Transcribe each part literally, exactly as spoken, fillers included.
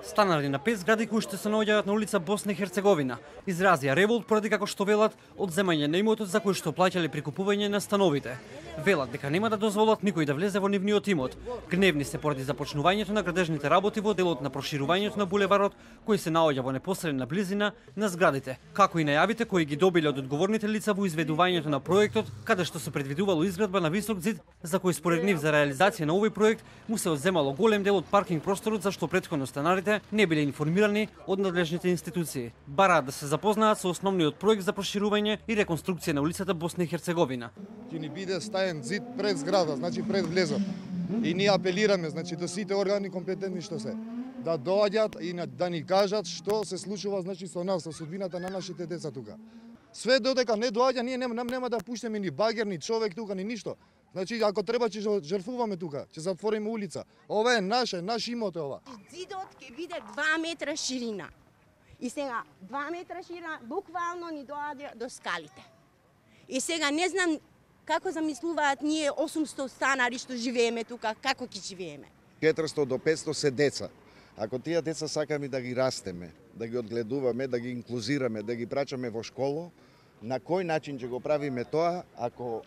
Станари на пет згради кои што се наоѓаат на улица Босна и Херцеговина изразија револт поради, како што велат, одземање на имотот за кој што плаќале при купување на становите. Велат дека нема да дозволат никој да влезе во нивниот имот. Гневни се поради започнувањето на градежните работи во делот на проширувањето на булеварот, кој се наоѓа во непосредна близина на зградите, како и најавите кои ги добиле од одговорните лица во изведувањето на проектот, каде што се предвидувало изградба на висок зид, за кој според нив за реализација на овој проект му се одземало голем дел од паркинг просторот, зашто претходно станарите не биле информирани од надлежните институции. Бараат да се запознаат со основниот проект за проширување и реконструкција на улицата Босна и Херцеговина. Ќе ни биде стаен зид пред зграда, значи пред влезот. И ние апелираме, значи до сите органи компетентни што се, да доаѓат и да ни кажат што се случува, значи со нас, со судбината на нашите деца тука. Све додека не доаѓа, ние нема, нема да пуштиме ни багер, ни човек тука, ни ништо. Значи, ако треба, ќе жртвуваме тука, ќе затвориме улица. Ова е наше, наш имот е ова. Зидот ќе биде два метра ширина. И сега, два метра ширина, буквално ни доаѓа до скалите. И сега, не знам како замислуваат ние осумсто станари што живееме тука, како ќе живееме. четиристо до петсто се деца. Ако тие деца сакаме да ги растеме, да ги одгледуваме, да ги инклузираме, да ги прачаме во школо, на кој начин ќе го правиме тоа ако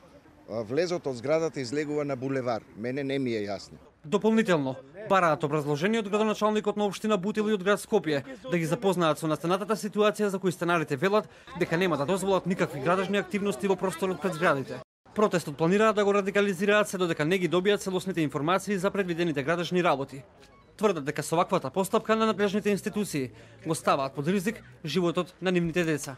влезот од зградата излегува на булевар? Мене не ми е јасно. Дополнително, бараат образложение од градоначалникот на општина Бутил и од град Скопје да ги запознаат со настанатата ситуација за кој станарите велат дека нема да дозволат никакви градежни активности во просторот пред зградите. Протестот планираат да го радикализираат се додека не ги добијат целосните информации за предвидените градежни работи. Тврдат дека со ваквата постапка на надлежните институции го ставаат под ризик животот на нивните деца.